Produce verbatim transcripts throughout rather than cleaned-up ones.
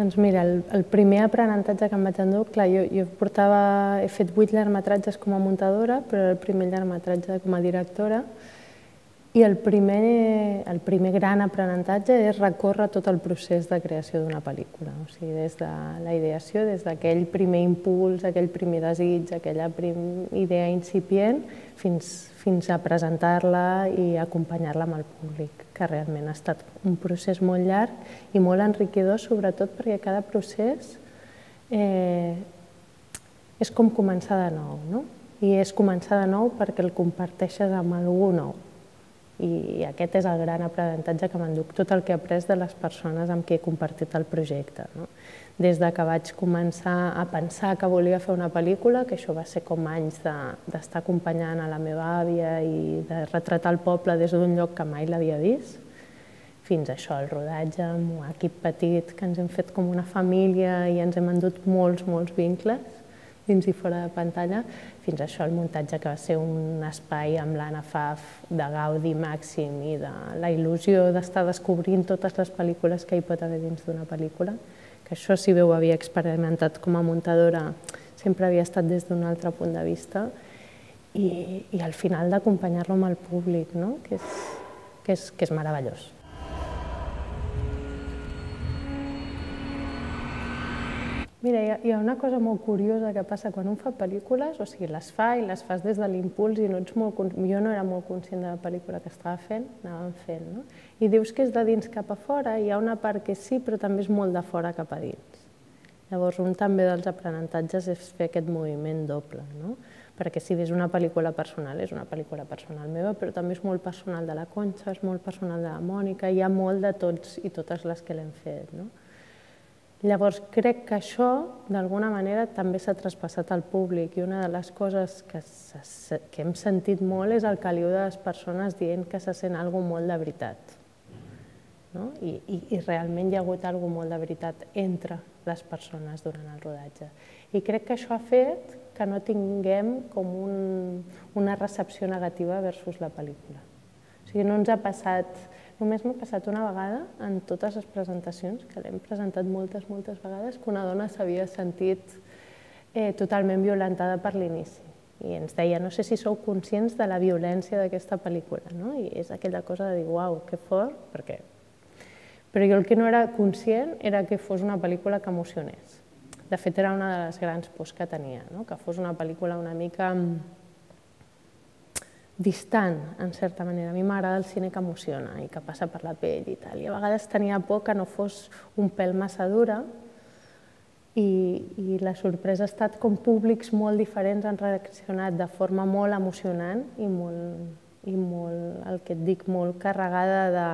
Doncs mira, el, el primer aprenentatge que em vaig endur, clar, jo, jo portava, he fet vuit llargmetratges com a muntadora, però era el primer llargmetratge com a directora, i el primer, el primer gran aprenentatge és recórrer tot el procés de creació d'una pel·lícula, o sigui, des de la ideació, des d'aquell primer impuls, aquell primer desig, aquella prim, idea incipient, fins, fins a presentar-la i acompanyar-la amb el públic, que realment ha estat un procés molt llarg i molt enriquidor, sobretot perquè cada procés eh, és com començar de nou, no? I és començar de nou perquè el comparteixes amb algú nou. I aquest és el gran aprenentatge que m'enduc, tot el que he après de les persones amb qui he compartit el projecte. Des que vaig començar a pensar que volia fer una pel·lícula, que això va ser com anys d'estar acompanyant a la meva àvia i de retratar el poble des d'un lloc que mai l'havia vist, fins a això, el rodatge amb un equip petit, que ens hem fet com una família i ens hem endut molts, molts vincles, dins i fora de pantalla, fins a això, el muntatge que va ser un espai amb l'Anna Faf de gaudi màxim i de la il·lusió d'estar descobrint totes les pel·lícules que hi pot haver dins d'una pel·lícula, que això, si bé ho havia experimentat com a muntadora, sempre havia estat des d'un altre punt de vista, i, i al final d'acompanyar-lo amb el públic, no? que, és, que, és, que és meravellós. Mira, hi ha una cosa molt curiosa que passa quan un fa pel·lícules, o sigui, les fa i les fas des de l'impuls i no ets molt... Jo no era molt conscient de la pel·lícula que estava fent, anàvem fent, no? I dius que és de dins cap a fora, hi ha una part que sí, però també és molt de fora cap a dins. Llavors, un també dels aprenentatges és fer aquest moviment doble, no? Perquè si ves una pel·lícula personal, és una pel·lícula personal meva, però també és molt personal de la Conxa, és molt personal de la Mònica, hi ha molt de tots i totes les que l'hem fet, no? Llavors, crec que això, d'alguna manera, també s'ha traspassat al públic i una de les coses que, que hem sentit molt és el caliu de les persones dient que se sent alguna cosa molt de veritat. No? I, i, I realment hi ha hagut alguna cosa molt de veritat entre les persones durant el rodatge. I crec que això ha fet que no tinguem com un, una recepció negativa versus la pel·lícula. O sigui, no ens ha passat... Només m'ha passat una vegada en totes les presentacions, que l'hem presentat moltes, moltes vegades, que una dona s'havia sentit eh, totalment violentada per l'inici. I ens deia, no sé si sou conscients de la violència d'aquesta pel·lícula, no? I és aquella cosa de dir, uau, que fort, perquè... Però jo el que no era conscient era que fos una pel·lícula que emocionés. De fet, era una de les grans pors que tenia, no? Que fos una pel·lícula una mica distant, en certa manera. A mi m'agrada el cine que emociona i que passa per la pell i tal. I a vegades tenia por que no fos un pèl massa dura i, i la sorpresa ha estat com públics molt diferents han reaccionat de forma molt emocionant i molt, i molt, el que et dic, molt carregada de...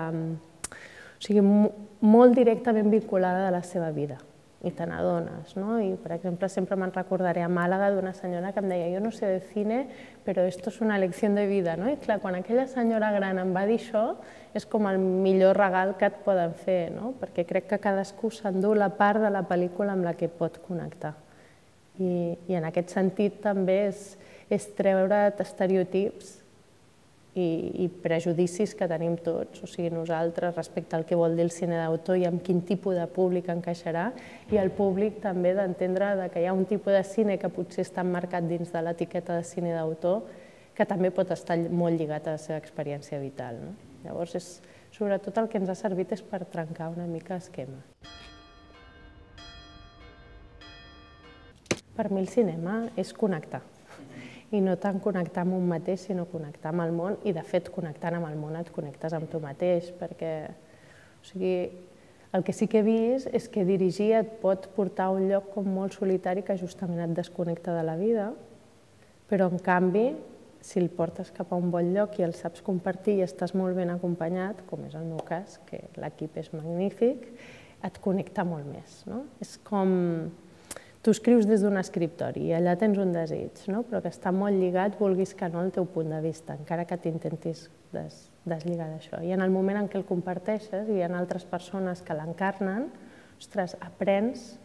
O sigui, molt directament vinculada a la seva vida. I te n'adones, no? I, per exemple, sempre me'n recordaré a Màlaga d'una senyora que em deia jo no sé de cine, però esto es una lección de vida, no? I clar, quan aquella senyora gran em va dir això, és com el millor regal que et poden fer, no? Perquè crec que cadascú s'endú la part de la pel·lícula amb la que pot connectar. I, i en aquest sentit també és, és treure't estereotips i, i prejudicis que tenim tots, o sigui, nosaltres respecte al que vol dir el cine d'autor i amb quin tipus de públic encaixarà, i el públic també d'entendre que hi ha un tipus de cine que potser està emmarcat dins de l'etiqueta de cine d'autor que també pot estar molt lligat a la seva experiència vital. No? Llavors, és, sobretot el que ens ha servit és per trencar una mica esquema. Per mi el cinema és connectar. I no tant connectar amb un mateix, sinó connectar amb el món, i de fet, connectant amb el món et connectes amb tu mateix, perquè o sigui, el que sí que he vist és que dirigir et pot portar a un lloc com molt solitari que justament et desconnecta de la vida, però en canvi, si el portes cap a un bon lloc i el saps compartir i estàs molt ben acompanyat, com és el meu cas, que l'equip és magnífic, et connecta molt més. No? És com... Tu escrius des d'un escriptori i allà tens un desig, no? Però que està molt lligat, vulguis que no, al teu punt de vista, encara que t'intentis des, deslligar d'això. I en el moment en què el comparteixes i hi ha altres persones que l'encarnen, ostres, aprens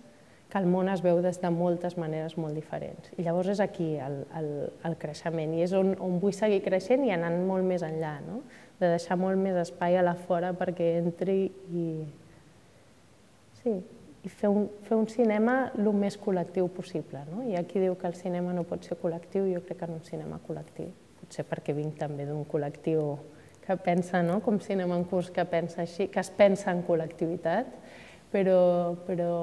que el món es veu des de moltes maneres molt diferents. I llavors és aquí el, el, el creixement i és on, on vull seguir creixent i anant molt més enllà, no? De deixar molt més espai a la fora perquè entri i... Sí, i fer un, fer un cinema el més col·lectiu possible. No? Hi ha qui diu que el cinema no pot ser col·lectiu, jo crec que en un cinema col·lectiu. Potser perquè vinc també d'un col·lectiu que pensa, no? Com cinema en curs, que pensa així, que es pensa en col·lectivitat, però, però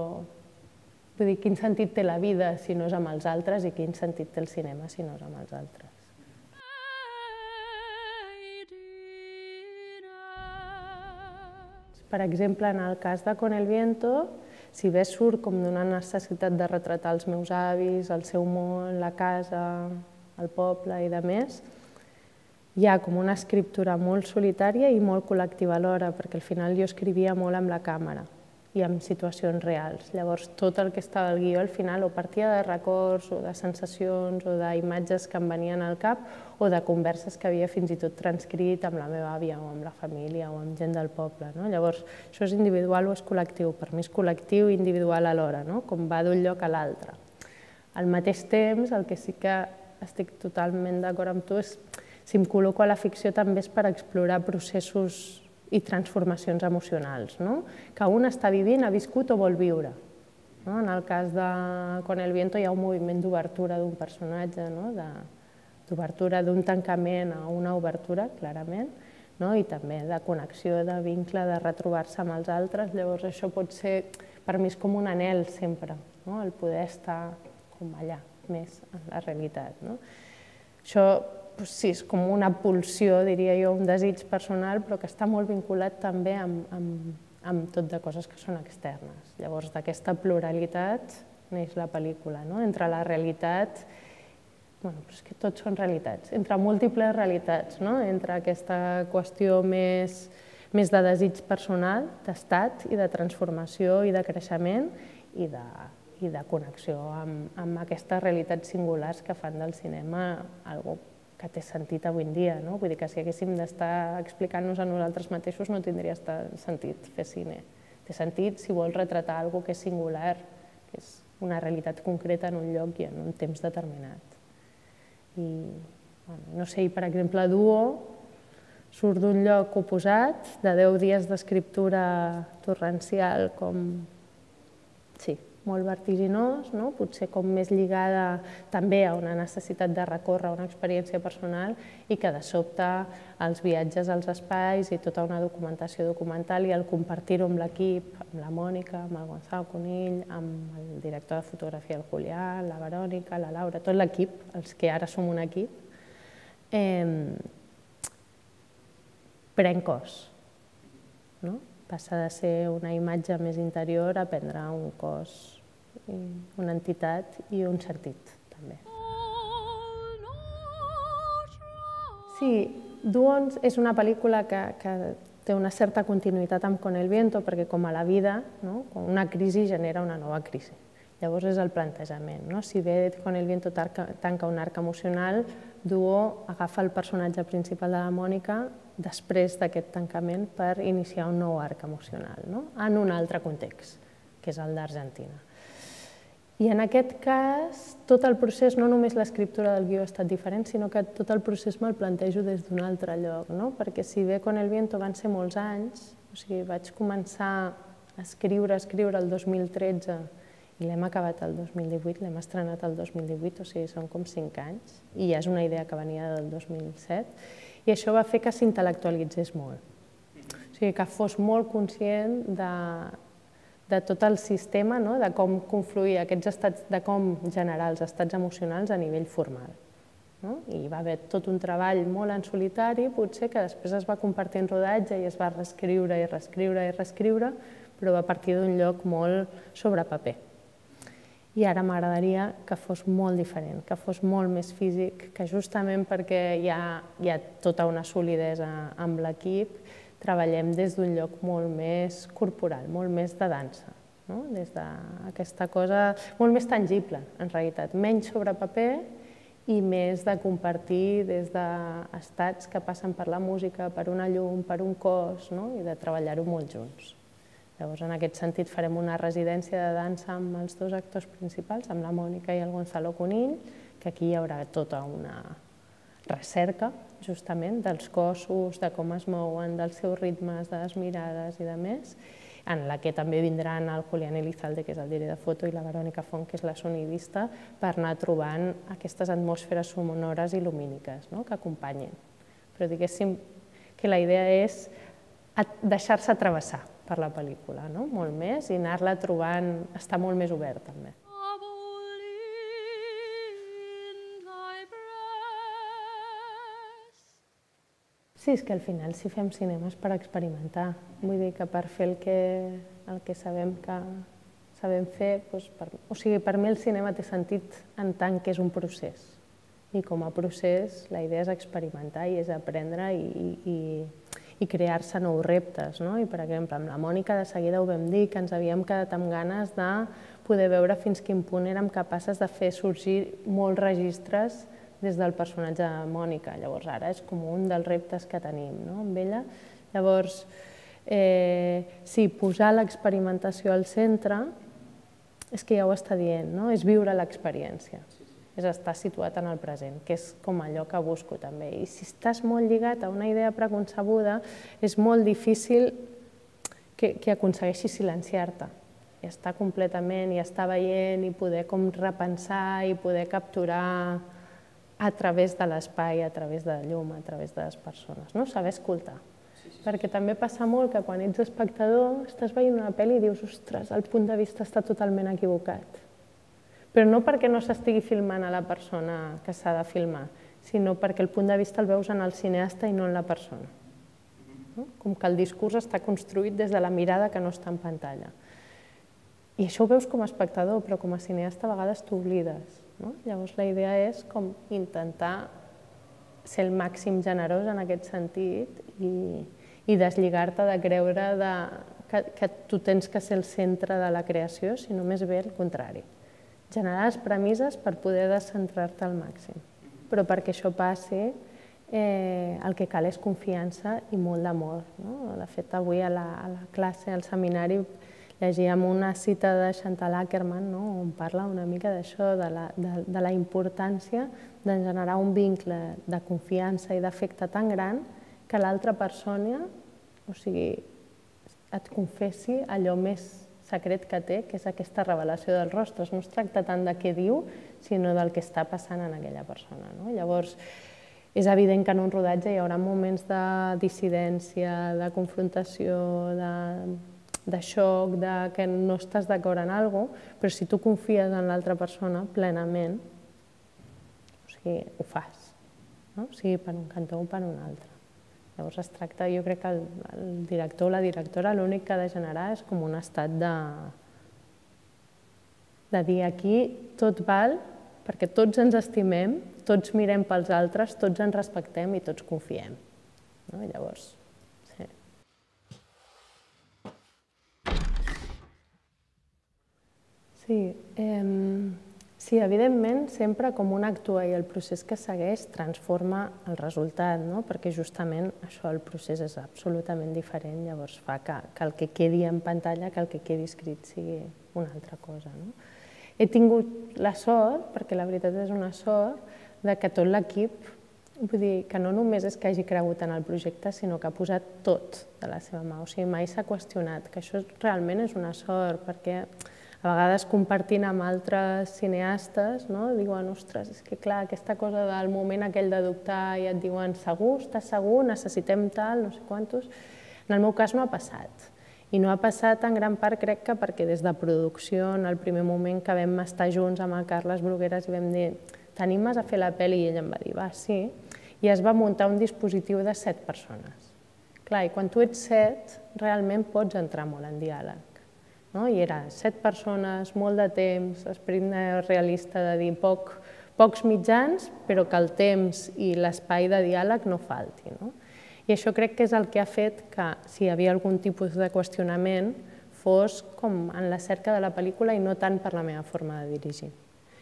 vull dir, quin sentit té la vida si no és amb els altres i quin sentit té el cinema si no és amb els altres. Per exemple, en el cas de Con el viento, si bé surt com d'una necessitat de retratar els meus avis, el seu món, la casa, el poble i de més, hi ha com una escriptura molt solitària i molt col·lectiva alhora, perquè al final jo escrivia molt amb la càmera i amb situacions reals. Llavors, tot el que estava al guió al final o partia de records o de sensacions o d'imatges que em venien al cap o de converses que havia fins i tot transcrit amb la meva àvia o amb la família o amb gent del poble. No? Llavors, això és individual o és col·lectiu? Per mi és col·lectiu i individual alhora, no? Com va d'un lloc a l'altre. Al mateix temps, el que sí que estic totalment d'acord amb tu és si em col·loco a la ficció també és per explorar processos i transformacions emocionals, no? Que un està vivint, ha viscut o vol viure. No? En el cas de Con el viento hi ha un moviment d'obertura d'un personatge, no? D'obertura d'un tancament a una obertura, clarament, no? I també de connexió, de vincle, de retrobar-se amb els altres. Llavors això pot ser, per mi és com un anhel sempre, no? El poder estar com allà, més en la realitat. No? Això sí, és com una pulsió, diria jo, un desig personal, però que està molt vinculat també amb, amb, amb tot de coses que són externes. Llavors, d'aquesta pluralitat neix la pel·lícula, no? Entre la realitat, bueno, però és que tots són realitats, entre múltiples realitats, no? Entre aquesta qüestió més, més de desig personal, d'estat i de transformació i de creixement i de, i de connexió amb, amb aquestes realitats singulars que fan del cinema algo que té sentit avui en dia, no? Vull dir que si haguéssim d'estar explicant-nos a nosaltres mateixos no tindria sentit fer cine. Té sentit si vols retratar alguna cosa que és singular, que és una realitat concreta en un lloc i en un temps determinat. I, bueno, no sé, per exemple, Duo surt d'un lloc oposat, de deu dies d'escriptura torrencial com... sí, molt vertiginós, no? Potser com més lligada també a una necessitat de recórrer una experiència personal i que de sobte els viatges als espais i tota una documentació documental i el compartir-ho amb l'equip, amb la Mònica, amb el Gonzalo Conill, amb el director de fotografia, el Julià, la Verònica, la Laura, tot l'equip, els que ara som un equip, eh, pren cos, no? Passa de ser una imatge més interior a prendre un cos, una entitat i un sentit, també. Sí, Duo és una pel·lícula que, que té una certa continuïtat amb Con el viento, perquè com a la vida, no? Una crisi genera una nova crisi. Llavors és el plantejament. No? Si bé Con el viento tanca un arc emocional, Duo agafa el personatge principal de la Mònica després d'aquest tancament per iniciar un nou arc emocional, no? En un altre context, que és el d'Argentina. I en aquest cas, tot el procés, no només l'escriptura del guió ha estat diferent, sinó que tot el procés me'l plantejo des d'un altre lloc, no? Perquè si bé Con el viento van ser molts anys, o sigui, vaig començar a escriure, a escriure el dos mil tretze i l'hem acabat el dos mil divuit, l'hem estrenat el dos mil divuit, o sigui, són com cinc anys, i ja és una idea que venia del dos mil set, i això va fer que s'intel·lectualitzés molt. O sigui, que fos molt conscient de, de tot el sistema, no? De com confluir aquests estats, de com generar els estats emocionals a nivell formal. No? I hi va haver tot un treball molt en solitari, potser que després es va compartir en rodatge i es va reescriure i reescriure i reescriure, però va partir d'un lloc molt sobre paper. I ara m'agradaria que fos molt diferent, que fos molt més físic, que justament perquè hi ha, hi ha tota una solidesa amb l'equip, treballem des d'un lloc molt més corporal, molt més de dansa, no? Des d'aquesta cosa molt més tangible, en realitat, menys sobre paper i més de compartir des d'estats que passen per la música, per una llum, per un cos, no? I de treballar-ho molt junts. Llavors, en aquest sentit, farem una residència de dansa amb els dos actors principals, amb la Mònica i el Gonzalo Conill, que aquí hi haurà tota una recerca, justament, dels cossos, de com es mouen, dels seus ritmes, de les mirades i de més, en la que també vindran el Julián Elizalde, que és el director de foto, i la Verònica Font, que és la sonidista, per anar trobant aquestes atmosferes sonores i lumíniques que acompanyin. Però diguéssim que la idea és deixar-se travessar per la pel·lícula, molt més, i anar-la trobant, estar molt més obert també. Sí, és que al final si fem cinema és per experimentar. Vull dir que per fer el que, el que sabem que sabem fer, doncs per, o sigui, per mi el cinema té sentit en tant que és un procés. I com a procés la idea és experimentar i és aprendre i, i, i crear-se nous reptes. No? I per exemple, amb la Mònica de seguida ho vam dir, que ens havíem quedat amb ganes de poder veure fins quin punt érem capaces de fer sorgir molts registres des del personatge de Mònica. Llavors ara és com un dels reptes que tenim amb ella. Llavors, sí, posar l'experimentació al centre és que ja ho està dient, és viure l'experiència, és estar situat en el present, que és com allò que busco també. I si estàs molt lligat a una idea preconcebuda, és molt difícil que aconsegueixis silenciar-te i estar completament, i estar veient, i poder com repensar, i poder capturar a través de l'espai, a través de la llum, a través de les persones, saber escoltar. Perquè també passa molt que quan ets espectador estàs veient una pel·li i dius, ostres, el punt de vista està totalment equivocat. Però no perquè no s'estigui filmant a la persona que s'ha de filmar, sinó perquè el punt de vista el veus en el cineasta i no en la persona. Com que el discurs està construït des de la mirada que no està en pantalla. I això ho veus com a espectador, però com a cineasta a vegades t'oblides. Llavors la idea és com intentar ser el màxim generós en aquest sentit i deslligar-te de creure que tu tens que ser el centre de la creació, sinó més bé el contrari. Generar les premisses per poder descentrar-te al màxim. Però perquè això passi el que cal és confiança i molt d'amor. De fet, avui a la classe, al seminari, llegíem una cita de Chantal Akerman on parla una mica d'això, de la importància de generar un vincle de confiança i d'afecte tan gran que l'altra persona et confessi allò més secret que té, que és aquesta revelació dels rostres. No es tracta tant de què diu, sinó del que està passant en aquella persona. Llavors, és evident que en un rodatge hi haurà moments de dissidència, de confrontació, de xoc, que no estàs d'acord en alguna cosa, però si tu confies en l'altra persona plenament, ho fas, sigui per un cantó o per un altre. Llavors es tracta, jo crec que el director o la directora l'únic que ha de generar és com un estat de dir aquí tot val perquè tots ens estimem, tots mirem pels altres, tots ens respectem i tots confiem. Llavors, sí. Sí, evidentment, sempre com un actua i el procés que segueix transforma el resultat, perquè justament això, el procés és absolutament diferent, llavors fa que el que quedi en pantalla, que el que quedi escrit sigui una altra cosa. He tingut la sort, perquè la veritat és una sort, que tot l'equip, vull dir, que no només és que hagi cregut en el projecte, sinó que ha posat tot de la seva mà, o sigui, mai s'ha qüestionat, que això realment és una sort, perquè a vegades compartint amb altres cineastes, diuen, ostres, és que clar, aquesta cosa del moment aquell de dubtar i et diuen, segur, estàs segur, necessitem tal, no sé quantos. En el meu cas no ha passat. I no ha passat en gran part, crec que perquè des de producció, en el primer moment que vam estar junts amb el Carles Brugueras i vam dir, t'animes a fer la pel·li? I ell em va dir, va, sí. I es va muntar un dispositiu de set persones. Clar, i quan tu ets set, realment pots entrar molt en diàleg. I era set persones, molt de temps, esperit realista de dir pocs mitjans, però que el temps i l'espai de diàleg no falti. I això crec que és el que ha fet que, si hi havia algun tipus de qüestionament, fos com en la cerca de la pel·lícula i no tant per la meva forma de dirigir.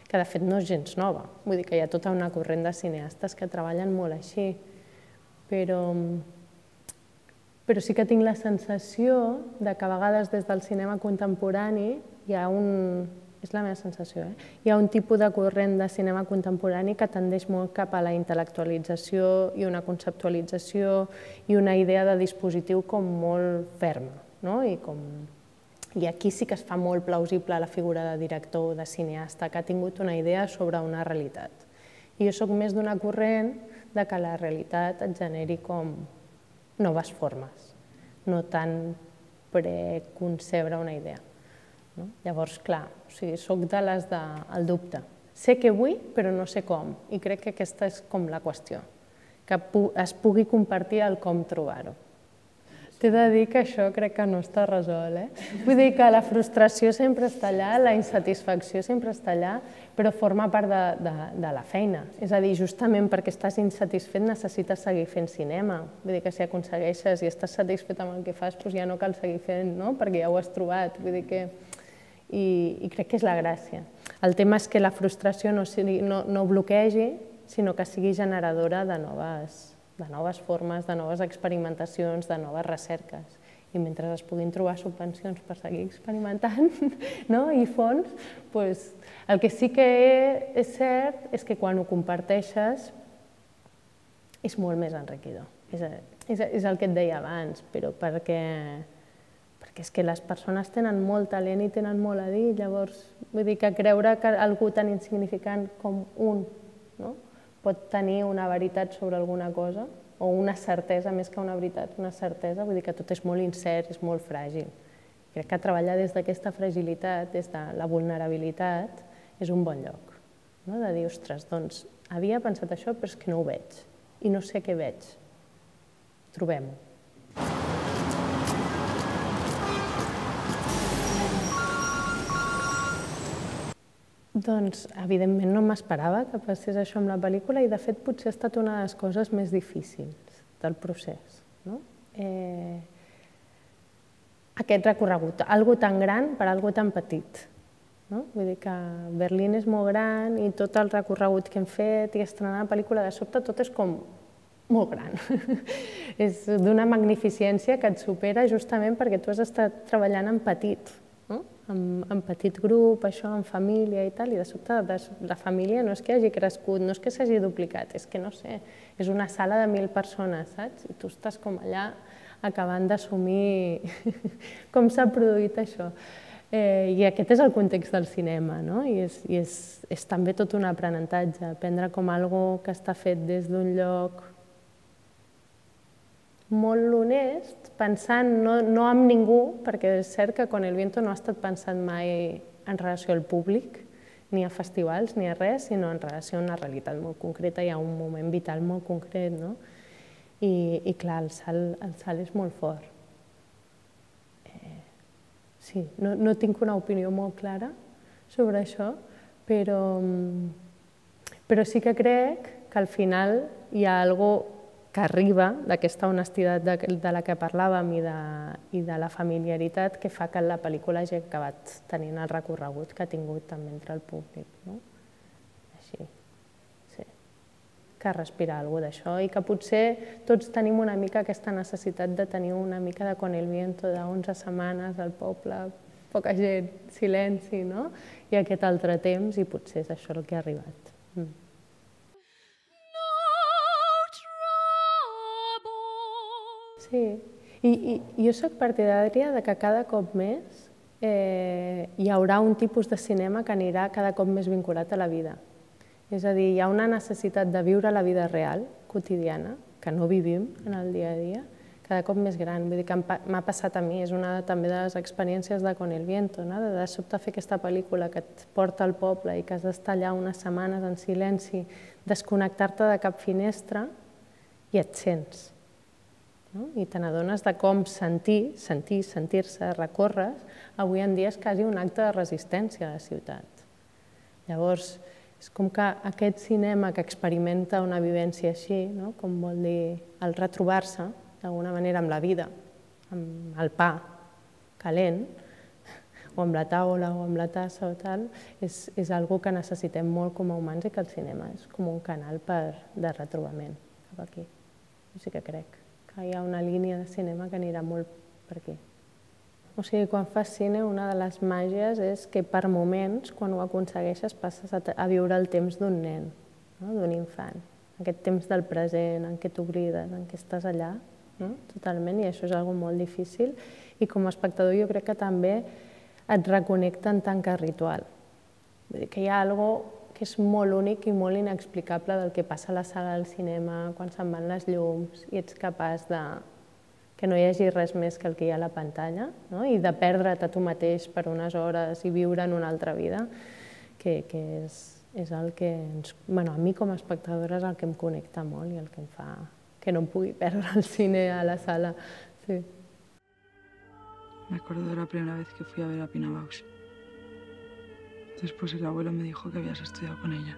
Que de fet no és gens nova, vull dir que hi ha tota una corrent de cineastes que treballen molt així, però... però sí que tinc la sensació que a vegades des del cinema contemporani hi ha un... és la meva sensació, eh? Hi ha un tipus de corrent de cinema contemporani que tendeix molt cap a la intel·lectualització i una conceptualització i una idea de dispositiu com molt ferma, no? I com I aquí sí que es fa molt plausible la figura de director o de cineasta que ha tingut una idea sobre una realitat. I jo soc més d'una corrent de que la realitat et generi com noves formes, no tant preconcebre una idea. Llavors, clar, soc de les del dubte. Sé què vull, però no sé com, i crec que aquesta és com la qüestió, que es pugui compartir el com trobar-ho. T'he de dir que això crec que no està resolt, eh? Vull dir que la frustració sempre està allà, la insatisfacció sempre està allà, però forma part de la feina. És a dir, justament perquè estàs insatisfet necessites seguir fent cinema. Vull dir que si aconsegueixes i estàs satisfet amb el que fas, doncs ja no cal seguir fent, no? Perquè ja ho has trobat. Vull dir que... I crec que és la gràcia. El tema és que la frustració no bloquegi, sinó que sigui generadora de noves de noves formes, de noves experimentacions, de noves recerques. I mentre es puguin trobar subvencions per seguir experimentant i fons, el que sí que és cert és que quan ho comparteixes és molt més enriquidor. És el que et deia abans, però perquè és que les persones tenen molt talent i tenen molt a dir, llavors vull dir que creure que algú tan insignificant com un pot tenir una veritat sobre alguna cosa, o una certesa, més que una veritat, una certesa, vull dir que tot és molt incert, és molt fràgil. Crec que treballar des d'aquesta fragilitat, des de la vulnerabilitat, és un bon lloc. De dir, ostres, doncs, havia pensat això, però és que no ho veig, i no sé què veig. Trobem-ho. Doncs, evidentment, no m'esperava que passés això amb la pel·lícula i, de fet, potser ha estat una de les coses més difícils del procés. Aquest recorregut, algo tan gran per algo tan petit. Vull dir que Berlín és molt gran i tot el recorregut que hem fet i estrenar la pel·lícula, de sobte, tot és com molt gran. És d'una magnificència que et supera justament perquè tu has estat treballant en petit, en petit grup, això, en família i tal, i de sobte la família no és que hagi crescut, no és que s'hagi duplicat, és que no sé, és una sala de mil persones, saps? I tu estàs com allà acabant d'assumir com s'ha produït això. I aquest és el context del cinema, no? I és també tot un aprenentatge, aprendre com algo que està fet des d'un lloc molt honest, pensant no en ningú, perquè és cert que Con el viento no ha estat pensat mai en relació al públic, ni a festivals, ni a res, sinó en relació a una realitat molt concreta i a un moment vital molt concret, no? I clar, el salt és molt fort. Sí, no tinc una opinió molt clara sobre això, però sí que crec que al final hi ha alguna cosa que arriba d'aquesta honestitat de la que parlàvem i de la familiaritat que fa que la pel·lícula hagi acabat tenint el recorregut que ha tingut també entre el públic. Així, sí. Que respirar alguna cosa d'això i que potser tots tenim una mica aquesta necessitat de tenir una mica de Con el viento, d'onze setmanes al poble, poca gent, silenci, no? I aquest altre temps, i potser és això el que ha arribat. Sí, i jo soc partidària que cada cop més hi haurà un tipus de cinema que anirà cada cop més vinculat a la vida. És a dir, hi ha una necessitat de viure la vida real, quotidiana, que no vivim en el dia a dia, cada cop més gran. Vull dir que m'ha passat a mi, és una també de les experiències de Con el viento, de sobte fer aquesta pel·lícula que et porta al poble i que has d'estar allà unes setmanes en silenci, desconnectar-te de cap finestra i et sents. I te n'adones de com sentir, sentir, sentir-se, recórrer, avui en dia és quasi un acte de resistència a la ciutat. Llavors, és com que aquest cinema que experimenta una vivència així, com vol dir el retrobar-se d'alguna manera amb la vida, amb el pa calent, o amb la taula o amb la tassa o tal, és algo que necessitem molt com a humans i que el cinema és com un canal de retrobament cap aquí. Jo sí que crec que hi ha una línia de cinema que anirà molt per aquí. O sigui, quan fas cine, una de les màgies és que per moments, quan ho aconsegueixes, passes a viure el temps d'un nen, d'un infant. Aquest temps del present, en què t'oblides, en què estàs allà, no? Totalment, i això és algo molt difícil. I com a espectador jo crec que també et reconnecta en tant que ritual. Vull dir que hi ha algo que és molt únic i molt inexplicable del que passa a la sala del cinema, quan se'n van les llums i ets capaç de que no hi hagi res més que el que hi ha a la pantalla, no? I de perdre't a tu mateix per unes hores i viure en una altra vida, que, que és, és el que ens, bueno, a mi com a espectadora és el que em connecta molt i el que em fa que no em pugui perdre al cine, a la sala. Sí. Me acuerdo de la primera vez que fui a ver a Pina Bausch. Después el abuelo me dijo que habías estudiado con ella.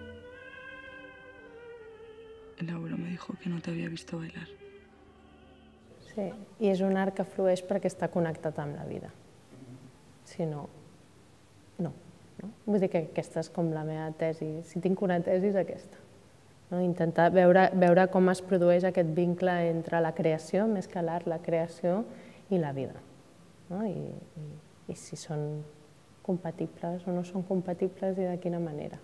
El abuelo me dijo que no te había visto bailar. Sí, i és un art que flueix perquè està connectat amb la vida. Si no, no. no? Vull dir que aquesta és com la meva tesi. Si tinc una tesi és aquesta. No? Intentar veure, veure com es produeix aquest vincle entre la creació, més que l'art, la creació i la vida. No? I, i, I si són compatibles o no són compatibles i de quina manera.